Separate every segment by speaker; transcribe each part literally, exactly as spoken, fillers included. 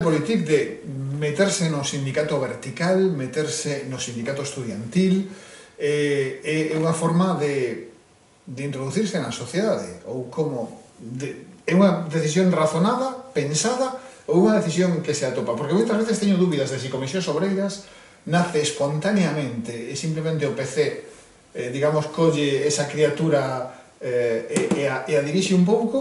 Speaker 1: politic de meterse no sindicato vertical, meterse no sindicato estudiantil, é eh, unha forma de, de introducirse na sociedade, ou como de, é unha decisión razonada, pensada, ou unha decisión que se atopa, porque moitas veces teño dúbidas de se Comisións Obreiras nace espontaneamente e simplemente o P C, eh, digamos, colle esa criatura eh, e, e, a, e a dirixe un pouco,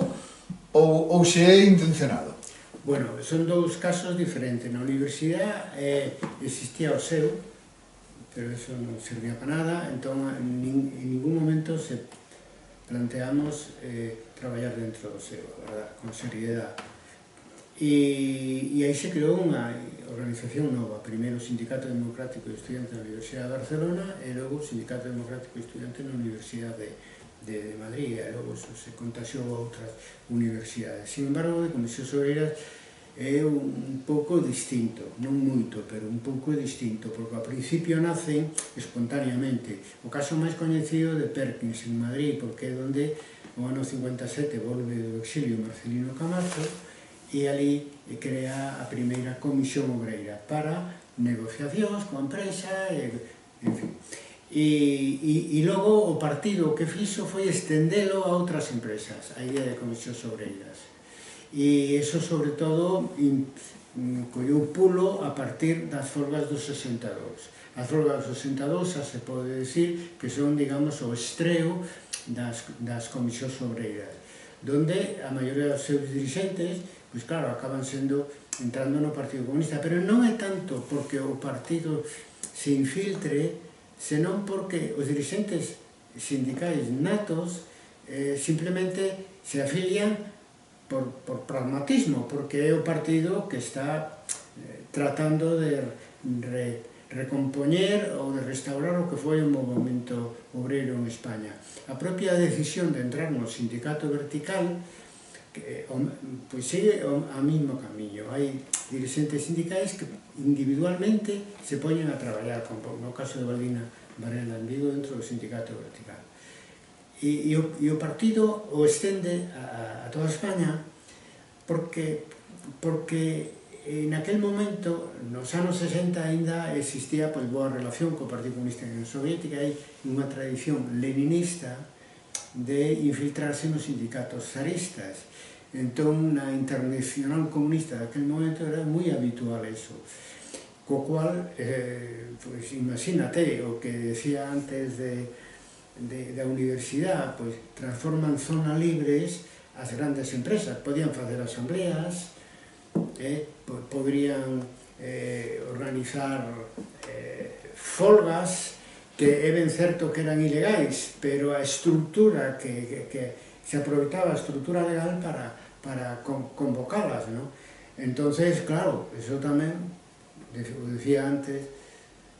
Speaker 1: ou, ou se é intencionado.
Speaker 2: Bueno, son dous casos diferentes. Na universidade eh, existía o seu, pero eso non servía para nada, entón en, nin, en ningún momento se planteamos eh, traballar dentro do seu, verdad, con seriedade. E, e aí se creou unha organización nova, primeiro o Sindicato Democrático de Estudiantes da Universidade de Barcelona e logo o Sindicato Democrático de Estudiantes na Universidade de, de Madrid, e logo se contaxiou a outras universidades. Sin embargo, de Comisións Obreiras é un pouco distinto, non moito, pero un pouco distinto, porque ao principio nacen espontaneamente. O caso máis coñecido de Perkins en Madrid, porque é onde no ano cincuenta e sete volve do exilio Marcelino Camacho e ali crea a primeira comisión obreira para negociacións coa empresa, e, en fin. E, e, e logo o partido que fixo foi estendelo a outras empresas, a idea de comisións obreiras. E iso, sobre todo, colleu pulo a partir das folgas do sesenta e dous. As folgas do sesenta e dous xa se pode decir que son, digamos, o estreo das, das comisións obreiras, donde a maioría dos seus dirigentes, pois claro, acaban sendo entrando no Partido Comunista, pero non é tanto porque o partido se infiltre, senón porque os dirigentes sindicais natos eh, simplemente se afilian Por, por pragmatismo, porque é o partido que está eh, tratando de re, recompoñer ou de restaurar o que foi o movimento obreiro en España. A propia decisión de entrar no sindicato vertical que, o, pois sigue o a mesmo camiño. Hai dirigentes sindicais que individualmente se poñen a traballar, como no caso de Baldina Varela en Vigo, dentro do sindicato vertical. E, e, o, e o partido o estende a, a toda España porque, porque en aquel momento, nos anos sesenta, ainda existía pois, boa relación co Partido Comunista en Soviética, hai unha tradición leninista de infiltrarse nos sindicatos zaristas. Entón, na Internacional Comunista daquel momento era moi habitual eso. Co cual, eh, pois, imagínate o que decía antes de De, da universidade, pois, transforman zonas libres as grandes empresas, podían facer asambleas, eh, podrían eh, organizar eh, folgas que é ben certo que eran ilegais, pero a estructura que, que, que se aproveitaba a estructura legal para, para con, convocalas, ¿no? Entonces, claro, eso tamén, o decía antes,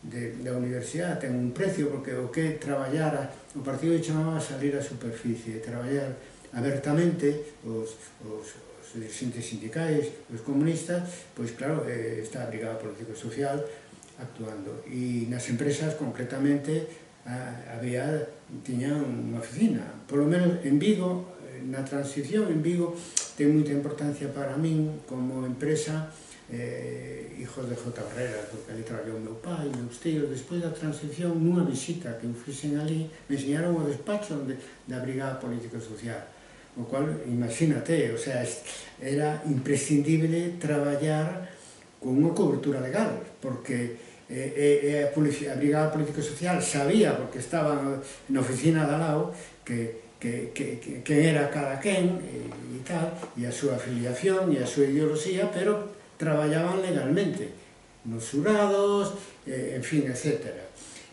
Speaker 2: de, da universidade ten un precio, porque o que traballar, o partido chamaba salir á superficie, traballar abertamente os, os, os dirigentes sindicais, os comunistas, pois claro, eh, está a Brigada Político-Social actuando, e nas empresas concretamente a, había, tiñan unha oficina, polo menos en Vigo, na transición en Vigo ten moita importancia para min como empresa, eh, hijos de J. Herrera, porque ali traballou meu pai, meus tíos. Despois da transición, nunha visita que eu fixen ali, me enseñaron o despacho de, da Brigada Político-Social, o cual, imagínate, o sea, era imprescindible traballar con unha cobertura legal, porque eh, eh, a, a Brigada Político-Social sabía, porque estaba na oficina de al lado, que que, que, que, que era cada quen e, e tal, e a súa afiliación e a súa ideoloxía, pero traballaban legalmente, nos xurados, eh, en fin, etcétera.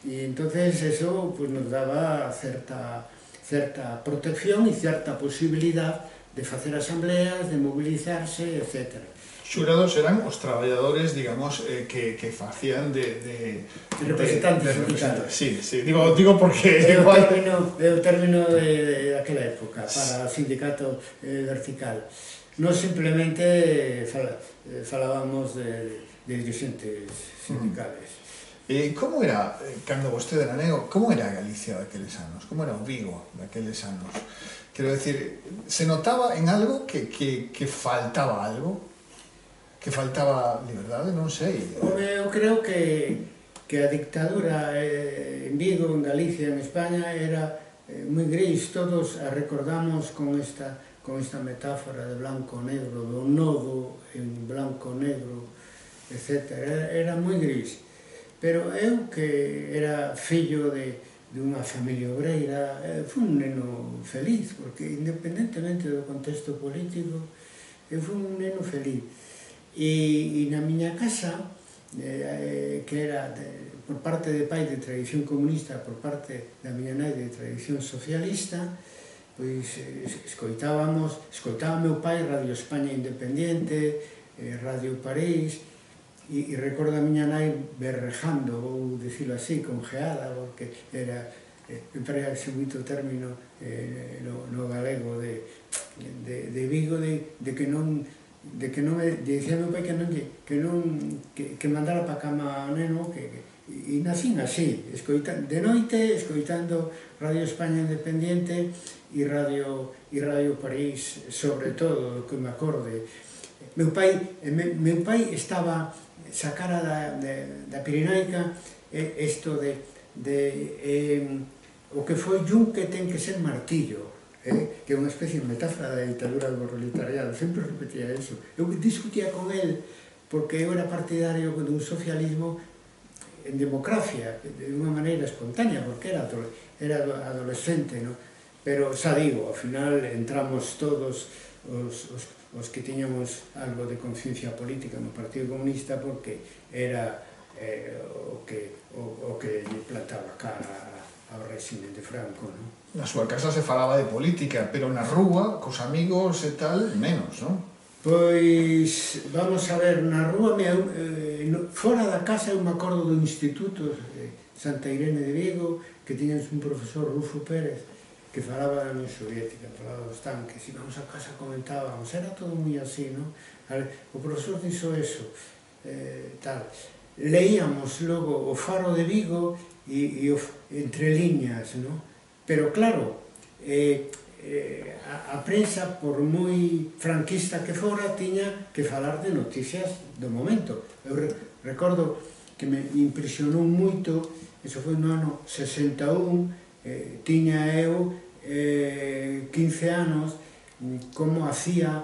Speaker 2: E entonces eso pues, nos daba certa, certa protección e certa posibilidad de facer asambleas, de mobilizarse, etcétera.
Speaker 1: Xurados eran os traballadores, digamos, eh, que, que facían de, de,
Speaker 2: de representantes
Speaker 1: de, de
Speaker 2: sindicales.
Speaker 1: Sí, sí, digo, digo porque...
Speaker 2: É o término, é o término de, de aquela época, para o sindicato eh, vertical. Non simplemente fal, eh, falábamos de, de dirigentes sindicales.
Speaker 1: E como era, cando vostede era neno, como era Galicia daqueles anos? Como era o Vigo daqueles anos? Quero decir, se notaba en algo que, que, que faltaba algo? que faltaba liberdade, non sei.
Speaker 2: Eu creo que, que a dictadura eh, en Vigo, en Galicia, en España, era eh, moi gris. Todos a recordamos con esta, con esta metáfora de blanco-negro, do nodo en blanco-negro, etcétera. Era, era moi gris. Pero eu, que era fillo de, de unha familia obreira, eh, fui un neno feliz, porque independentemente do contexto político, eu fui un neno feliz. E, e na miña casa, eh, que era de, por parte de pai de tradición comunista, por parte da miña nai de tradición socialista, pois eh, escoitábamos, escoitaba meu pai Radio España Independiente, eh, Radio París, e, e recordo a miña nai berrejando, ou dicilo así, congeada, porque era, eh, emprega ese moito término eh, no, no galego de, de, de Vigo, de, de que non de que non me dicía meu pai que non que non que, que mandara para cama ao neno, que, que e nacín así, escoitando de noite, escoitando Radio España Independiente e Radio e Radio París, sobre todo, que me acorde. Meu pai, me, meu pai estaba sacara da, de, da Pirenaica eh, isto de, de eh, o que foi yunque ten que ser martillo. Eh, que é unha especie de metáfora da ditadura do proletariado, sempre repetía eso. Eu discutía con el porque eu era partidario dun socialismo en democracia, de unha maneira espontánea, porque era, era adolescente, no? Pero xa digo, ao final entramos todos os, os, os que tiñamos algo de conciencia política no Partido Comunista, porque era eh, o, que, o, o que lle plantaba cara ao régimen de Franco, non?
Speaker 1: Na súa casa se falaba de política, pero na rúa, cos amigos e tal, menos, non?
Speaker 2: Pois, vamos a ver, na rúa, eh, fora da casa eu me acordo do instituto de Santa Irene de Vigo, que tiñamos un profesor, Rufo Pérez, que falaba da Unión Soviética, falaba dos tanques, e vamos a casa comentábamos, era todo moi así, non? O profesor dixo eso, eh, tal. Leíamos logo o Faro de Vigo e, e o, entre liñas, non? Pero claro, eh, eh, a, a prensa, por moi franquista que fora, tiña que falar de noticias do momento. Eu re, recordo que me impresionou moito, eso foi no ano sesenta e un, eh, tiña eu eh, quince anos, como hacía,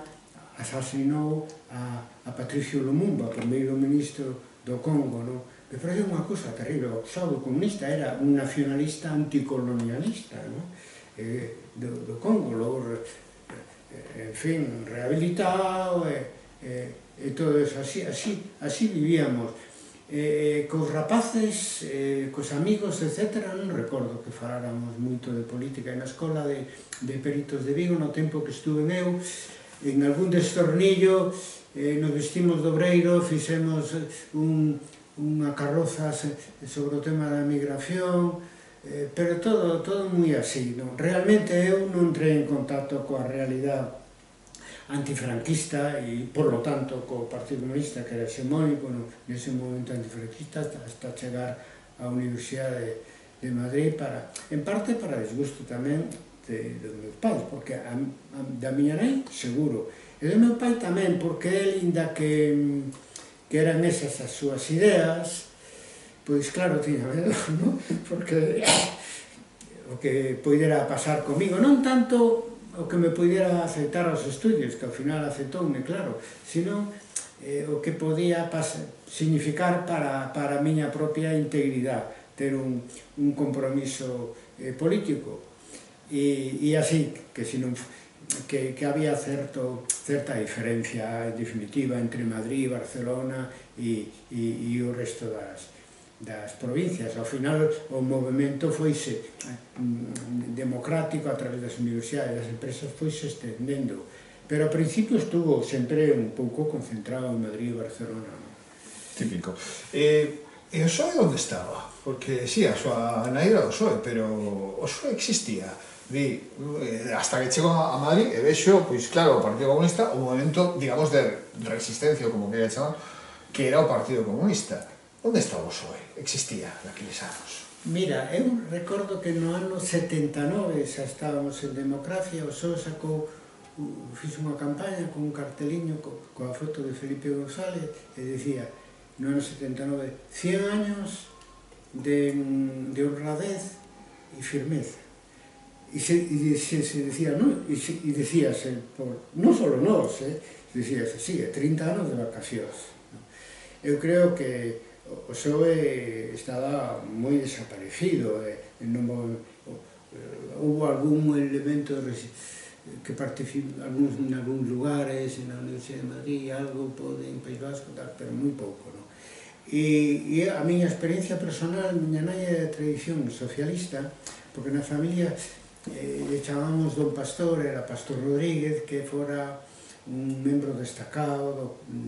Speaker 2: asasinou a, a Patricio Lumumba, primeiro ministro do Congo, non? Me parece unha cousa terrible. O Estado comunista era un nacionalista anticolonialista, no? eh, do, do Congo, logo, eh, en fin, rehabilitado, e, eh, e todo eso, así, así, así vivíamos. Eh, cos rapaces, eh, cos amigos, etcétera, non recordo que faláramos moito de política. Na escola de, de Peritos de Vigo, no tempo que estuve eu, en algún destornillo, eh, nos vestimos de obreiro, fixemos un unha carroza sobre o tema da migración, eh, pero todo, todo moi así, non? Realmente eu non entrei en contacto coa realidade antifranquista e, por lo tanto, co Partido Comunista, que era hexemónico, no, nese momento antifranquista, hasta, hasta chegar á Universidade de, de Madrid, para, en parte para desgusto tamén de, dos meus pais, porque a, a, da miña nai, seguro, e do meu pai tamén, porque el, inda que que eran esas as súas ideas, pois claro, tiña medo, non? Porque o que poidera pasar comigo, non tanto o que me poidera aceptar aos estudios, que ao final aceptoume, claro, sino eh, o que podía pasar, significar para, para a miña propia integridade, ter un, un compromiso eh, político. E, e así, que se non... Que, que había certo, certa diferencia en definitiva entre Madrid, Barcelona e, e, e o resto das, das provincias. Ao final o movimento foise democrático a través das universidades, das empresas foise estendendo, pero ao principio estuvo sempre un pouco concentrado en Madrid e Barcelona.
Speaker 1: Típico. E, e o P S O E onde estaba? Porque, sí, a súa nai era o P S O E, pero o P S O E existía. Vi, hasta que chego a Madrid e vexo, pois claro, o Partido Comunista, o movimento, digamos, de resistencia, como quería chamar, que era o Partido Comunista. Onde estaba o P S O E? Existía naqueles anos?
Speaker 2: Mira, eu recordo que no ano setenta e nove xa estábamos en democracia, o P S O E sacou fixe unha campaña con un carteliño coa foto de Felipe González e decía, no ano setenta e nove, cien años de, de honradez e firmeza. E se, e se, se decía, no, e, se, e decíase, por, non só nós, eh, decíase, sí, trinta anos de vacacións. No? Eu creo que o P S O E estaba moi desaparecido, eh, non, houve algún elemento de que participou en algúns lugares, na Universidade de Madrid, algo pode en País Vasco, tal, pero moi pouco, non? E, e a miña experiencia personal, miña nai é de tradición socialista, porque na familia eh, le chamamos Don Pastor, era Pastor Rodríguez, que fora un membro destacado do,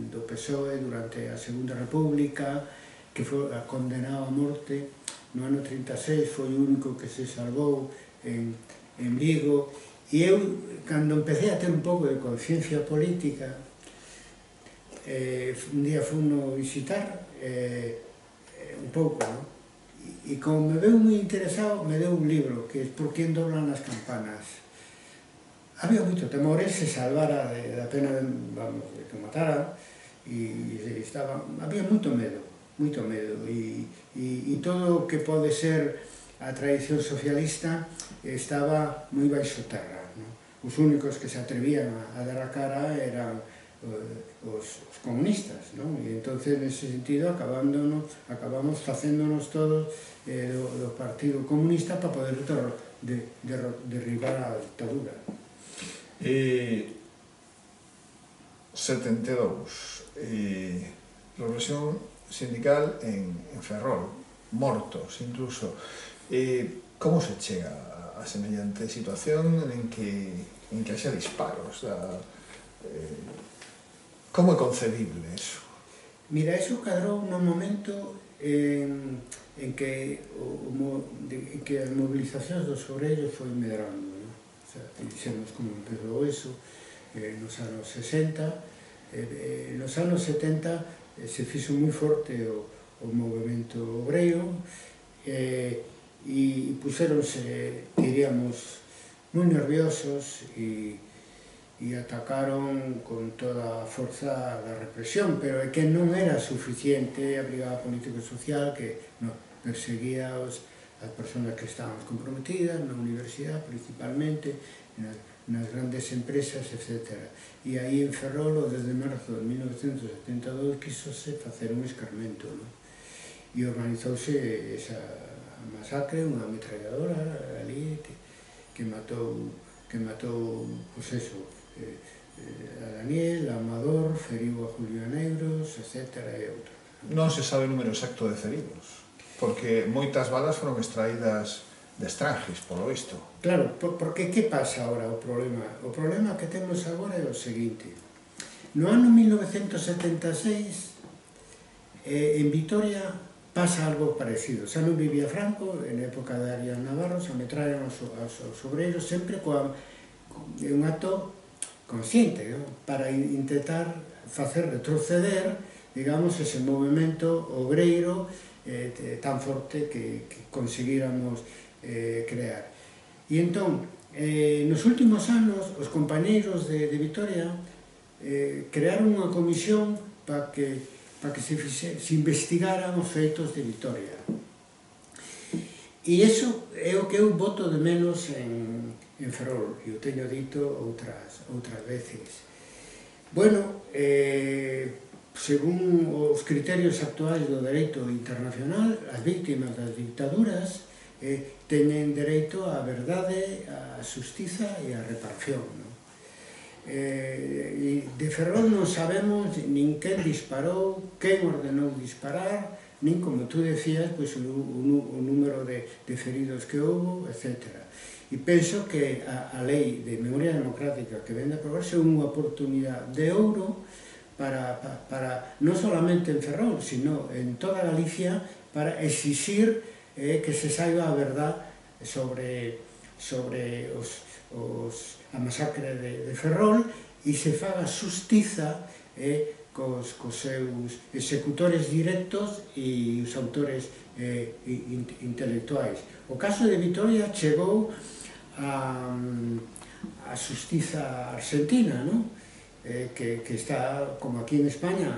Speaker 2: do P S O E durante a Segunda República, que foi condenado a morte no ano trinta e seis, foi o único que se salvou en, en Vigo. E eu, cando empecé a ter un pouco de conciencia política, eh, un día funo visitar eh, un pouco, non? E como me veu moi interesado, me deu un libro, que é Por quen doblan as campanas. Había moito temor, el se salvara de, da pena de, vamos, de que matara, e estaba, había moito medo, moito medo, e, e, e todo o que pode ser a tradición socialista estaba moi baixo terra, non? Os únicos que se atrevían a, a dar a cara eran os, os comunistas, non? E entonces, nese sentido, acabándonos, acabamos facéndonos todos eh, do, do Partido Comunista para poder de, de, derribar a dictadura.
Speaker 1: E setenta e dous, e revolución sindical en, en Ferrol, mortos incluso. E como se chega a, a semellante situación en que, en que haxa disparos? A, eh, como é concebible eso?
Speaker 2: Mira, eso cadrou nun momento en, en, que, o, de, en que as movilizacións dos obreiros foi medrando, non? O sea, dixemos como empezou eso eh, nos anos sesenta, eh, eh, nos anos setenta eh, se fixo moi forte o, o movimento obreiro, eh, e puxéronse, diríamos, moi nerviosos e, e atacaron con toda a forza da represión, pero é que non era suficiente a Brigada Político Social, que no, perseguía os, as persoas que estaban comprometidas na universidade principalmente, nas, nas grandes empresas, etcétera. E aí en Ferrol, desde marzo de mil novecentos setenta e dous, quisose facer un escarmento, non? E organizouse esa masacre, unha ametralladora ali que, que matou, que matou, pois eso, eh, a Daniel, a Amador, feriu a Julio Negros, etcétera, e outros.
Speaker 1: Non se sabe o número exacto de feridos, porque moitas balas foron extraídas de estranges, polo visto.
Speaker 2: Claro, porque que pasa agora o problema? O problema que temos agora é o seguinte. No ano mil novecentos setenta e seis, eh, en Vitoria, pasa algo parecido. Xa non vivía Franco, en época de Arias Navarro, se ametrallaron aos, aos, aos obreiros sempre coa, un acto consciente, ¿no? Para intentar facer retroceder, digamos, ese movimento obreiro eh, tan forte que, que conseguíramos eh, crear. E entón, eh, nos últimos anos, os compañeiros de, de Vitoria eh, crearon unha comisión para que para que se, fixe, se investigaran os feitos de Vitoria. E iso é o que eu voto de menos en, en Ferrol, e o teño dito outras, outras veces. Bueno, eh, según os criterios actuais do dereito internacional, as víctimas das dictaduras eh, teñen dereito á verdade, á xustiza e á reparación, non? Eh, de Ferrol non sabemos nin quen disparou, quen ordenou disparar, nin, como tú decías, pois, o, o, o número de, de feridos que houve, etcétera. E penso que a, a lei de memoria democrática que vende a aprobarse é unha oportunidade de ouro para, para, para non solamente en Ferrol, sino en toda Galicia, para exixir eh, que se saiba a verdad sobre, sobre os, os a masacre de, de Ferrol e se faga xustiza eh, cos, cos seus executores directos e os autores eh, intelectuais. O caso de Vitoria chegou a, a xustiza argentina, non? Eh, que, que está, como aquí en España,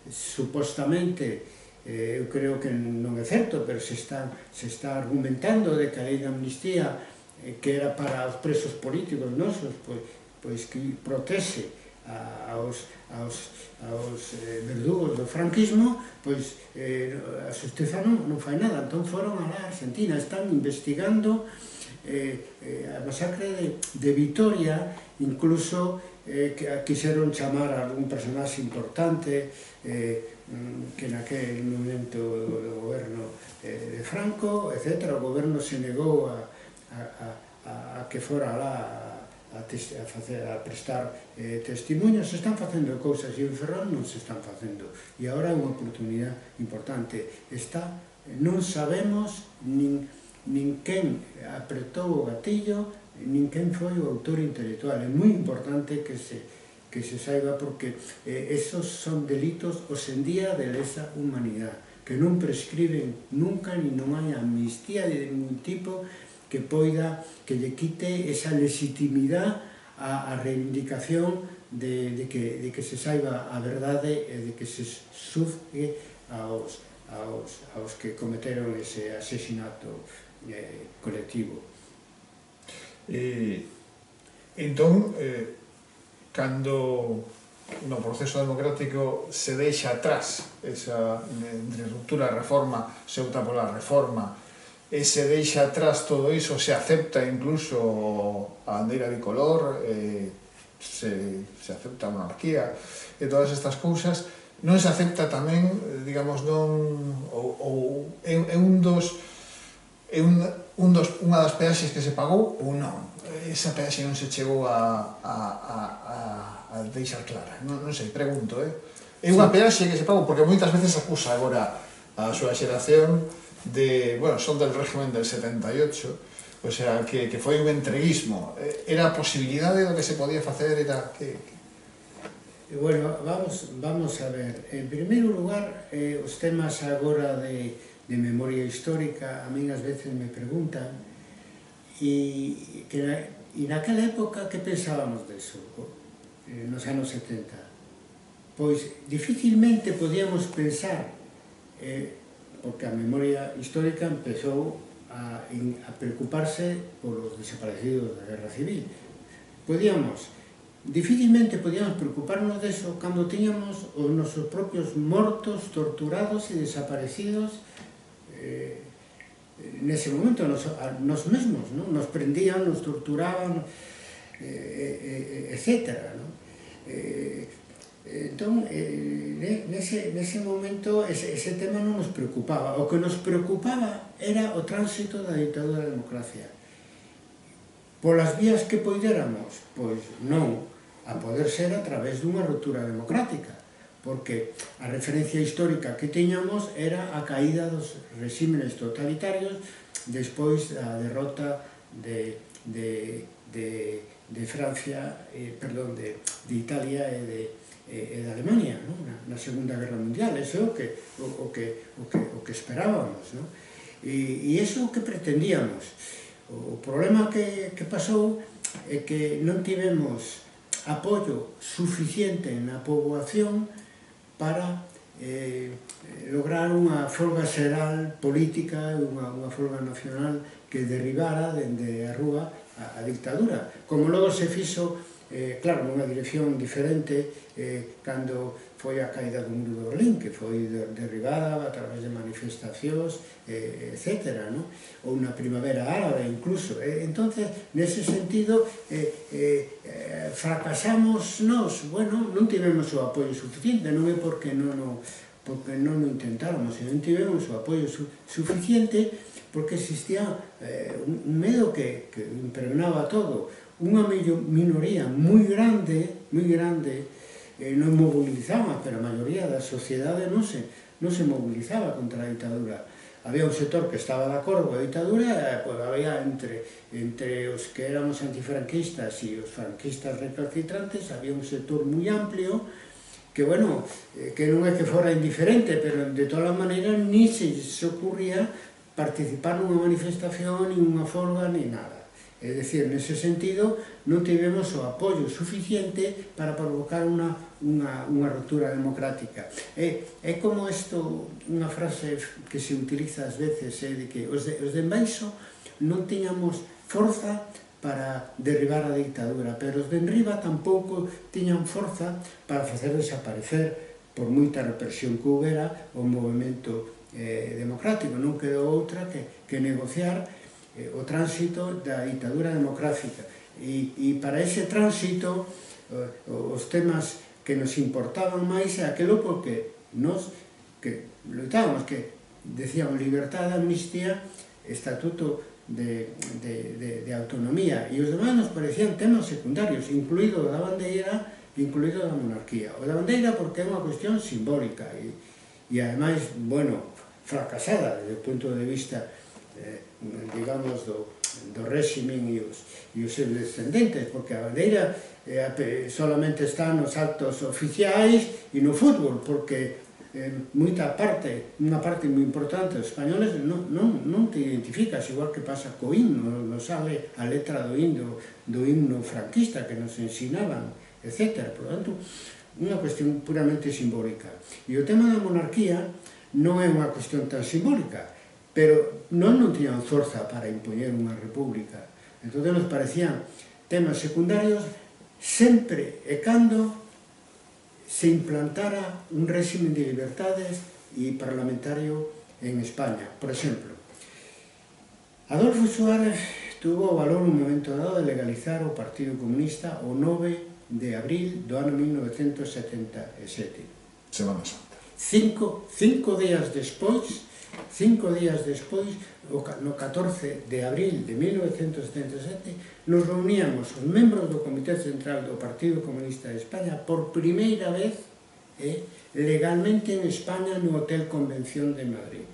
Speaker 2: supostamente, eh, eu creo que non é certo, pero se está, se está argumentando de que a lei de amnistía, eh, que era para os presos políticos nosos, pois, pois que protexe a, aos, aos, aos eh, verdugos do franquismo, pois eh, a xustiza non, non fai nada. Entón foron a la Argentina, están investigando eh, eh, a masacre de, de Vitoria, incluso eh, que quixeron chamar a algún personaxe importante eh, que naquel momento do goberno eh, de Franco, etcétera. O goberno se negou a, a, a, a que fora lá a, a, facer, a prestar eh, testemunhos. Se están facendo cousas e en Ferrol non se están facendo, e agora é unha oportunidade importante. Está, non sabemos nin, nin quen apretou o gatillo, nin quen foi o autor intelectual. É moi importante que se, que se saiba, porque eh, esos son delitos hoxe en día de lesa humanidade, que non prescriben nunca, nin non hai amnistía de ningún tipo que poida, que lle quite esa legitimidade a, a reivindicación de, de, que, de que se saiba a verdade e de que se xuzgue aos, aos, aos que cometeron ese asesinato eh, colectivo.
Speaker 1: E, entón, eh, cando no proceso democrático se deixa atrás esa entre ruptura e reforma, se opta pola reforma, e se deixa atrás todo iso, se acepta incluso a bandeira bicolor, eh, se, se acepta a monarquía e todas estas cousas, non se acepta tamén, digamos, non, ou, ou é, é un dos é un, un dos, unha das peaxes que se pagou ou non. Esa peaxe non se chegou a, a, a, a, a deixar clara. Non, non sei, pregunto, eh? É unha peaxe que se pagou, porque moitas veces acusa agora a súa xeración de, bueno, son del régimen del setenta e ocho, o sea, que, que foi un entreguismo. Era a posibilidade do que se podía facer, era que...
Speaker 2: que... Bueno, vamos, vamos a ver. En primeiro lugar, eh, os temas agora de, de memoria histórica, a min ás veces me preguntan, e, que na, e naquela época que pensábamos deso, eh, nos anos setenta? Pois dificilmente podíamos pensar, eh, porque a memoria histórica empezou a, a preocuparse polos desaparecidos da Guerra Civil. Podíamos, dificilmente podíamos preocuparnos deso cando tiñamos os nosos propios mortos, torturados e desaparecidos eh, nese momento, nos, nos mesmos, ¿no? Nos prendían, nos torturaban, eh, eh, etcétera, ¿no? Eh, entón, eh, nese, nese momento ese, ese tema non nos preocupaba. O que nos preocupaba era o tránsito da ditadura da democracia. Polas vías que poidéramos, pois non, a poder ser a través dunha ruptura democrática, porque a referencia histórica que teñamos era a caída dos regímenes totalitarios despois da derrota de, de, de, de Francia, eh, perdón, de, de Italia e de, e de Alemania, ¿no? na, na Segunda Guerra Mundial. Eso é o que, o, o que, o que, o que esperábamos, ¿no? E, e eso é o que pretendíamos. O problema que, que pasou é que non tivemos apoio suficiente na poboación para eh, lograr unha folga xeral política, unha, unha folga nacional que derribara dende a rúa a, a dictadura. Como logo se fixo, eh, claro, nunha dirección diferente, eh, cando foi a caída do muro de Berlín, que foi derribada a través de manifestacións, eh, etcétera, ¿no? Ou na primavera árabe, incluso. Eh, entonces, nese sentido, eh, eh, fracasamos nós. Bueno, non tivemos o apoio suficiente, non é porque non o, porque non o intentáramos, non tivemos o apoio su, suficiente, porque existía eh, un medo que, que impregnaba todo. Unha minoría moi grande, moi grande, eh, non mobilizaba, pero a maioría da sociedade non se, non se mobilizaba contra a ditadura. Había un sector que estaba de acordo coa ditadura, pues, había entre, entre os que éramos antifranquistas e os franquistas recalcitrantes, había un sector moi amplio que, bueno, eh, que non é que fora indiferente, pero de todas as maneiras ni se se ocurría participar nunha manifestación, ni unha folga, ni nada. É dicir, nese sentido, non tivemos o apoio suficiente para provocar unha, unha, unha ruptura democrática. É, é como isto, unha frase que se utiliza ás veces, é de que os de, os de embaixo non tiñamos forza para derribar a dictadura, pero os de enriba tampouco tiñan forza para facer desaparecer, por moita represión que houbera, o movimento eh, democrático. Non quedou outra que, que negociar o tránsito da ditadura democrática. E, e para ese tránsito, os temas que nos importaban máis é aquilo porque nos que lutábamos, que decíamos liberdade, amnistía, estatuto de, de, de, de autonomía, e os demais nos parecían temas secundarios, incluído o da bandeira, incluído da monarquía. O da bandeira porque é unha cuestión simbólica e, e ademais, bueno, fracasada desde o punto de vista eh, digamos, do, do réximen e os, e os seus descendentes, porque a bandeira eh, solamente está nos actos oficiais e no fútbol, porque eh, moita parte, unha parte moi importante dos españoles non, non, non te identificas, igual que pasa co himno, non sale a letra do himno, do himno franquista que nos ensinaban, etcétera. Por lo tanto, unha cuestión puramente simbólica. E o tema da monarquía non é unha cuestión tan simbólica, pero non non tiñan forza para impoñer unha república. Entón nos parecían temas secundarios sempre e cando se implantara un régimen de libertades e parlamentario en España. Por exemplo, Adolfo Suárez tuvo o valor un momento dado de legalizar o Partido Comunista o nove de abril do ano mil novecentos setenta e sete.
Speaker 1: Semana Santa.
Speaker 2: Cinco, cinco días despois Cinco días despois, no catorce de abril de mil novecentos setenta e sete, nos reuníamos os membros do Comité Central do Partido Comunista de España por primeira vez eh, legalmente en España no Hotel Convención de Madrid.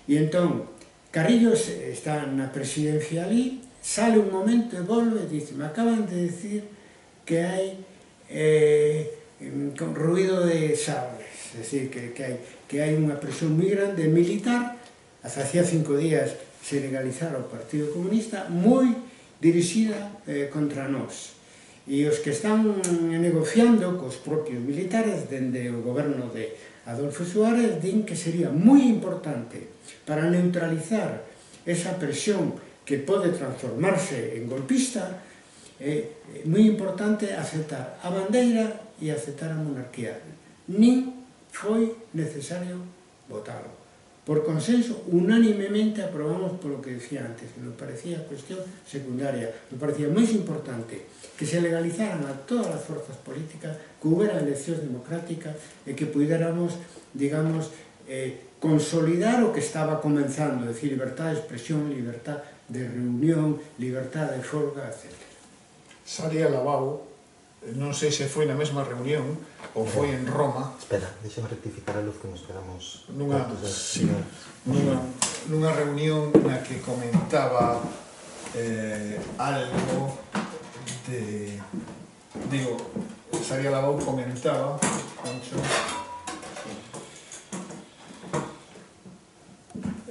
Speaker 2: E entón, Carrillo está na presidencia ali, sale un momento e volve e dice: me acaban de decir que hai eh, con ruido de sables, é dicir, que, que hai que hai unha presión moi grande militar, hacía cinco días se legalizara o Partido Comunista, moi dirixida eh, contra nós. E os que están negociando cos propios militares dende o goberno de Adolfo Suárez din que sería moi importante para neutralizar esa presión que pode transformarse en golpista, é eh, moi importante aceptar a bandeira e aceptar a monarquía. Nin foi necesario votalo. Por consenso, unánimemente aprobamos polo que decía antes, que nos parecía cuestión secundaria, nos parecía máis importante que se legalizaran a todas as forzas políticas, que houbera eleccións democráticas e que puidéramos, digamos, eh, consolidar o que estaba comenzando, é dicir, libertad de expresión, libertad de reunión, libertad de folga, etcétera.
Speaker 1: Salía Lavao, non sei se foi na mesma reunión ou foi en Roma.
Speaker 3: Espera, deixame rectificar a luz que nos quedamos
Speaker 1: nunha,
Speaker 3: cortos de...
Speaker 1: sí, nunha, nunha reunión na que comentaba eh, algo de... Digo, Saria Lavao comentaba, Concho,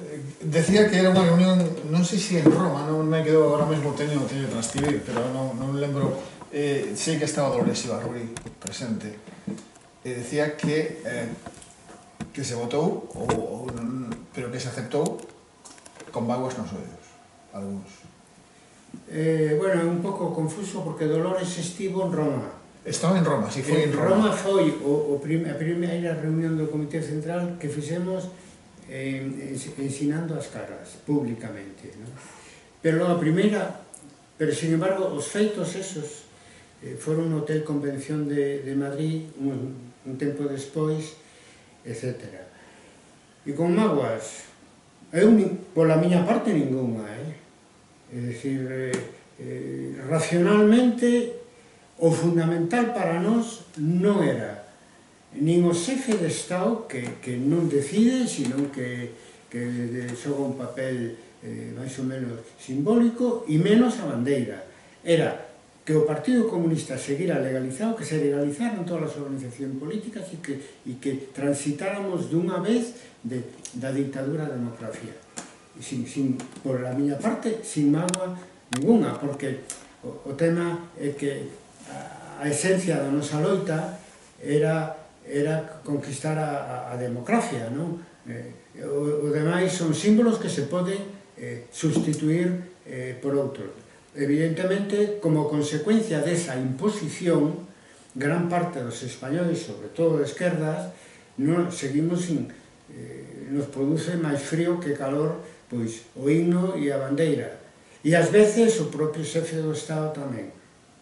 Speaker 1: eh, decía que era unha reunión, non sei se en Roma, non me quedo agora mesmo, teño, teño que transcribir, pero non, non lembro. Eh, sei que estaba Dolores Ibarruri presente e decía que eh, que se votou ou, ou, pero que se aceptou con vaguas nos oídos algúns.
Speaker 2: Eh, bueno, é un pouco confuso porque Dolores estivo en Roma.
Speaker 1: Estaba en Roma, si foi en Roma.
Speaker 2: Roma foi o, o prim, a primeira reunión do Comité Central que fixemos eh, ensinando as caras públicamente, ¿no? Pero a primeira, pero sin embargo os feitos esos foron no Hotel Convención de, de Madrid un, un tempo despois, etcétera. E con mágoas, eu, pola miña parte, ninguna, eh? É dicir, eh, eh, racionalmente, o fundamental para nós non era nin o xefe de Estado que, que non decide, sino que, que xoga un papel eh, máis ou menos simbólico, e menos a bandeira. Era que o Partido Comunista seguira legalizado, que se legalizaran todas as organizacións políticas e que, e que transitáramos dunha vez de, da dictadura á democracia. Sin, sin, por a miña parte, sin mágoa ninguna, porque o, o tema é que a, a esencia da nosa loita era, era conquistar a, a, a democracia, non? Eh, o, o demais son símbolos que se poden eh, sustituir eh, por outros. Evidentemente, como consecuencia desa imposición, gran parte dos españoles, sobre todo de esquerdas, non, seguimos sin, eh, nos produce máis frío que calor, pois o himno e a bandeira. E ás veces o propio xefe do Estado tamén.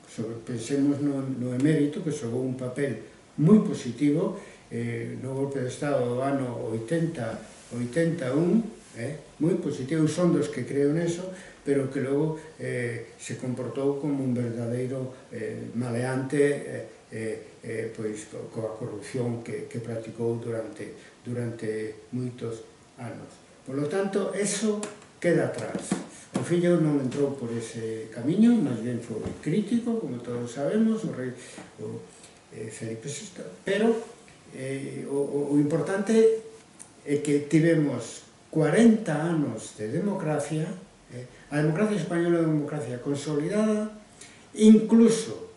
Speaker 2: Sobre, pensemos no, no emérito, que xogou un papel moi positivo eh, no golpe de Estado do ano oitenta, oitenta e un, eh, moi positivo, son dos que creo neso, pero que logo eh, se comportou como un verdadeiro eh, maleante eh, eh, eh, pois, coa corrupción que, que practicou durante, durante moitos anos. Por lo tanto, eso queda atrás. O fillo non entrou por ese camiño, máis ben foi crítico, como todos sabemos, o rei o, eh, Felipe sexto, pero eh, o, o importante é que tivemos cuarenta anos de democracia, eh, a democracia española é unha democracia consolidada, incluso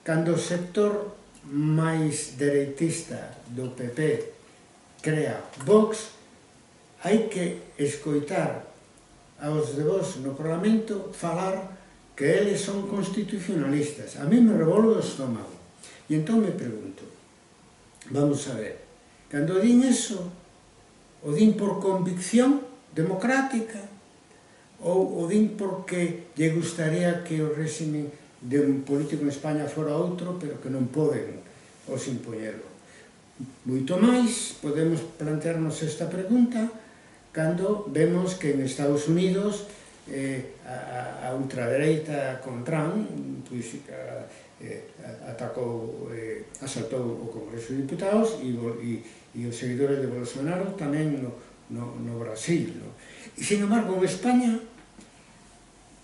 Speaker 2: cando o sector máis dereitista do P P crea Vox, hai que escoitar aos de Vox no Parlamento falar que eles son constitucionalistas. A mí me revolve o estómago. E entón me pregunto, vamos a ver, cando din eso, o din por convicción democrática ou o din porque lle gustaría que o réxime de un político en España fora outro, pero que non poden os impoñerlo. Moito máis, podemos plantearnos esta pregunta cando vemos que en Estados Unidos eh, a, a ultradereita con Trump pois, a, eh, atacou, eh, asaltou o Congreso de Diputados e, e, e os seguidores de Bolsonaro tamén no, no, no Brasil. No? E, sin embargo, en España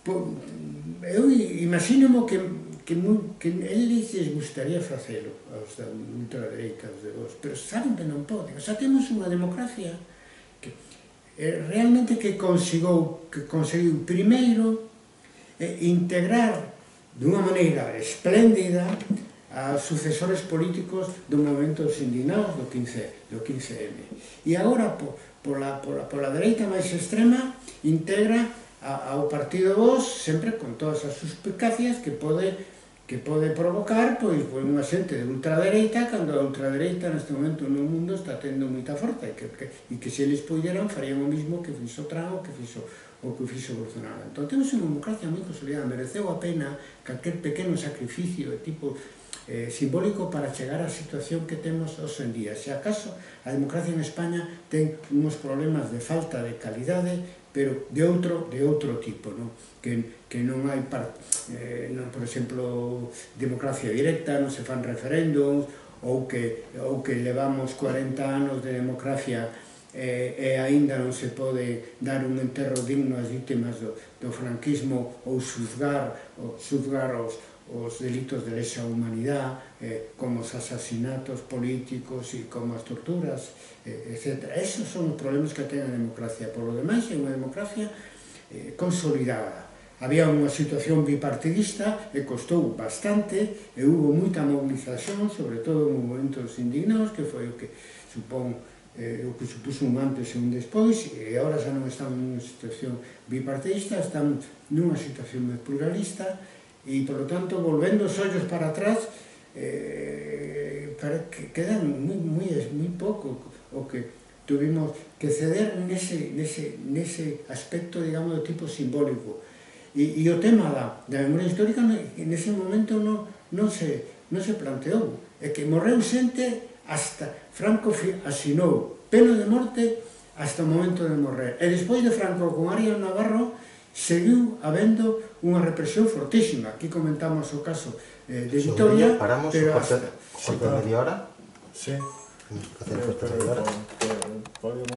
Speaker 2: eu imagino que, que, que eles les gustaría facelo aos da ultradereita, aos de Vox, pero saben que non poden. O sea, temos unha democracia que eh, realmente que conseguiu, que conseguiu primeiro eh, integrar dunha maneira espléndida a sucesores políticos do movimento dos indignados do quince eme. E agora, pola, pola, pola dereita máis extrema, integra ao partido Vox, sempre con todas as suspicacias que pode, que pode provocar pois, pois unha xente de ultradereita, cando a ultradereita neste momento no mundo está tendo moita forza e que, que, e que se eles puderan farían o mismo que fixo Trump ou que fixo, o que fixo Bolsonaro. Entón temos unha democracia moi consolidada, mereceu a pena calquer pequeno sacrificio de tipo eh, simbólico para chegar á situación que temos hoxe en día. Se acaso a democracia en España ten uns problemas de falta de calidade, pero de outro, de outro tipo, no? que, que non hai, par, eh, non, por exemplo, democracia directa, non se fan referéndums, ou que, ou que levamos cuarenta anos de democracia eh, e aínda non se pode dar un enterro digno ás vítimas do, do franquismo ou xuzgar, ou xuzgar os, os delitos de lesa humanidade, eh, como os asasinatos políticos e como as torturas, eh, etcétera. Esos son os problemas que ten a democracia. Por lo demais, é unha democracia eh, consolidada. Había unha situación bipartidista e costou bastante, e hubo moita movilización, sobre todo en momentos indignados, que foi o que supón eh, o que supuso un antes e un despois, e agora xa non estamos nunha situación bipartidista, estamos nunha situación pluralista, e, por lo tanto, volvendo os ollos para atrás, eh, para que quedan moi, moi, moi pouco o que tuvimos que ceder nese, nese, nese aspecto, digamos, de tipo simbólico. E, e o tema da, da memoria histórica nese momento non, non, se, non se planteou. É que morreu xente hasta Franco asinou pena de morte hasta o momento de morrer. E despois de Franco con Arias Navarro seguiu habendo unha represión fortísima. Aquí comentamos o caso eh, de Vitoria.
Speaker 3: Paramos
Speaker 2: pero
Speaker 3: o
Speaker 2: hasta...
Speaker 3: corte de media hora.
Speaker 1: Sí.
Speaker 3: Hacer el corte de media hora.